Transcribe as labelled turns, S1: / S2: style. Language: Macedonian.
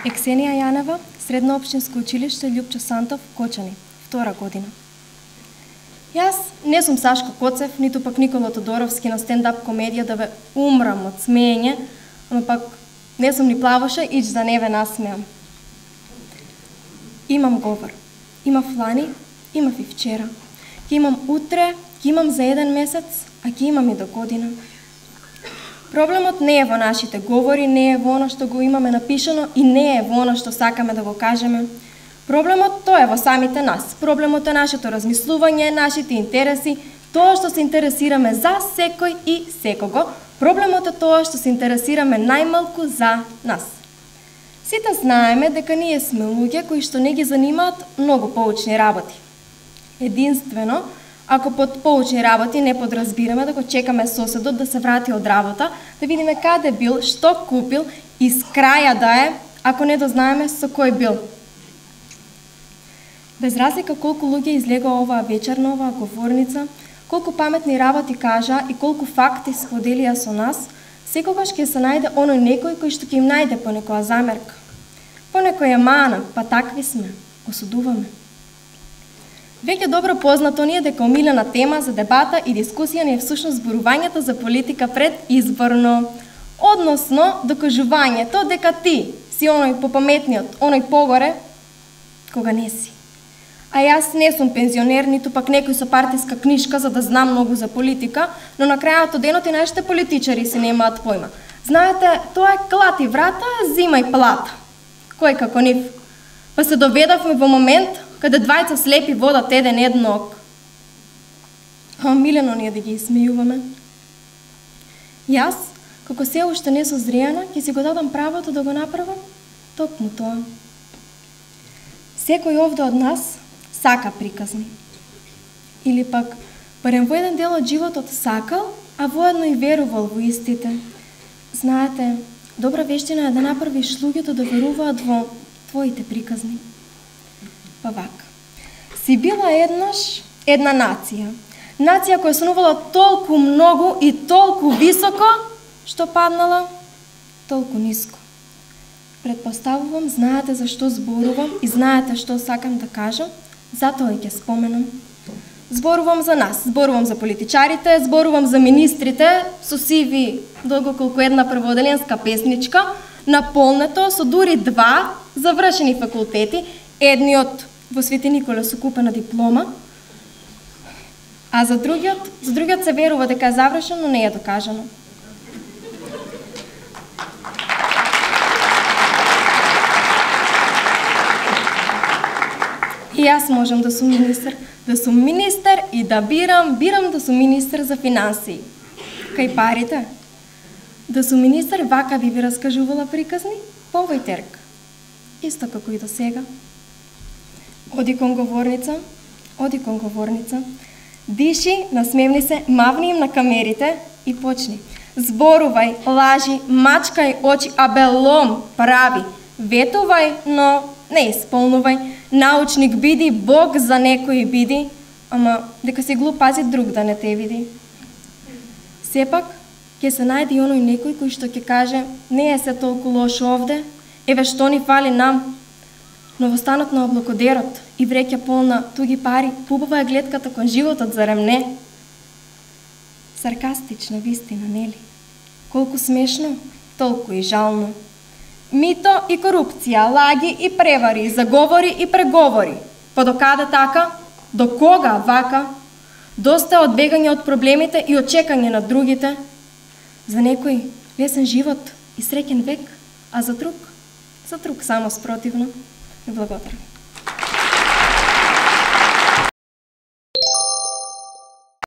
S1: Ексенија Јанева, Средно општинско училиште Љупчо Сантов, Кочани, 2 година. Јас не сум Сашко Коцев, ниту пак Никола Тодоровски на стендап комедија да ве умрам од смеење, ама пак не сум ни плавоша, ич да не ве насмеам. Имам говор. Имав лани, имав и вчера. Ке имам утре, ке имам за 1 месец, а ке имам и до година. Проблемот не е во нашите говори, не е во оно што го имаме напишано и не е во оно што сакаме да го кажеме. Проблемот тоа е во самите нас. Проблемот е нашето размислување, нашите интереси, тоа што се интересираме за секој и секого. Проблемот е тоа што се интересираме најмалку за нас. Сите знаеме дека ние сме луѓе кои што не ги занимаат многу поучни работи. Единствено, ако под поучни работи не подразбираме да го чекаме соседот да се врати од работа, да видиме каде бил, што купил и с краја да е, ако не дознаеме со кој бил. Без разлика колку луѓе излега оваа вечер на оваа говорница, колку паметни работи кажа и колку факти споделија со нас, секогаш ќе се најде оној некој кој што ќе им најде по некоја замерка. По некоја мана, па такви сме, осудуваме. Веќе добро познато ни е дека омилена тема за дебата и дискусија ни е всушност зборувањето за политика пред изборно, односно докажувањето дека ти си оној попаметниот, оној погоре, кога не си. А јас не сум пензионер, ниту пак некој со партиска книжка за да знам многу за политика, но на крајот од денот и нашите политичари си немаат појма. Знаете, тоа е клати врата, зимај плата. Кој како нив? Па се доведовме во момент каде двајца слепи водат еден ок. А милено ни е да ги смејуваме. Јас, како се уште не созријана, ќе си го дадам правото да го направам токму тоа. Секој овде од нас сака приказни. Или пак, барем во еден дел од животот сакал, а воедно и верувал во истите. Знаете, добра вештина е да направиш луѓето да веруваат во твоите приказни. Па вака. Си била еднаш една нација. Нација која сонувала толку многу и толку високо, што паднала толку ниско. Предпоставувам, знаете зашто зборувам и знаете што сакам да кажам, затоа и ќе споменам. Зборувам за нас, зборувам за политичарите, зборувам за министрите, со сиви долго колку една прводеленска песничка, наполнето со дури 2 завршени факултети, едниот во Свети Никола со купена диплома, а за другиот се верува дека е завршен, но не е докажано. И јас можам да сум министер и да бирам да сум министер за финансии. Кај парите? Да сум министер, вака би ви раскажувала приказни по овој терк. Исто како и до сега. Оди кон говорница, диши, насмевни се, мавни им на камерите и почни. Зборувај, лажи, мачкај очи, абелом, прави, ветувај, но не исполнувај. Научник биди, Бог за некој биди, ама дека си глуп, пази друг да не те види. Сепак, ќе се најде и оној некој кој што ќе каже, не е се толку лошо овде, еве што ни фали нам. Но во станот на облакодерот и вреќа полна туги пари, пубава е гледката кон животот, зарем не? Саркастична вистина, нели? Колку смешно, толку и жално. Мито и корупција, лаги и превари, заговори и преговори. Па до каде така? До кога вака? Доста од бегање од проблемите и од чекање на другите. За некој лесен живот и среќен век, а за друг само спротивно. Ви благодарам.